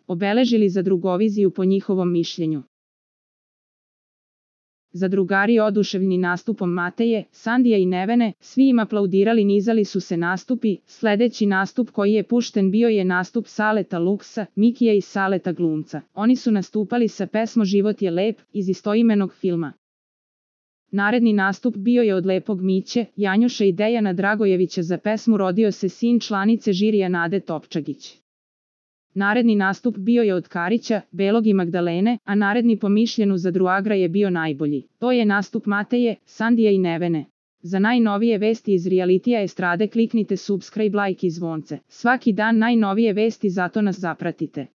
obeležili Zadrugoviziju po njihovom mišljenju. Zadrugari oduševljeni nastupom Mateje, Sandija i Nevene, svi im aplaudirali, nizali su se nastupi. Sledeći nastup koji je pušten bio je nastup Saleta Luksa, Mikija i Saleta glumca. Oni su nastupali sa pesmom Život je lep iz istoimenog filma. Naredni nastup bio je od Lepog Miće, Janjuša i Dejana Dragojevića za pesmu Rodio se sin članice žirija Nade Topčagić. Naredni nastup bio je od Karića, Belog i Magdalene, a naredni po mišljenju Zadruagra je bio najbolji. To je nastup Mateje, Sandija i Nevene. Za najnovije vesti iz realitija estrade kliknite subscribe, like i zvonce. Svaki dan najnovije vesti, zato nas zapratite.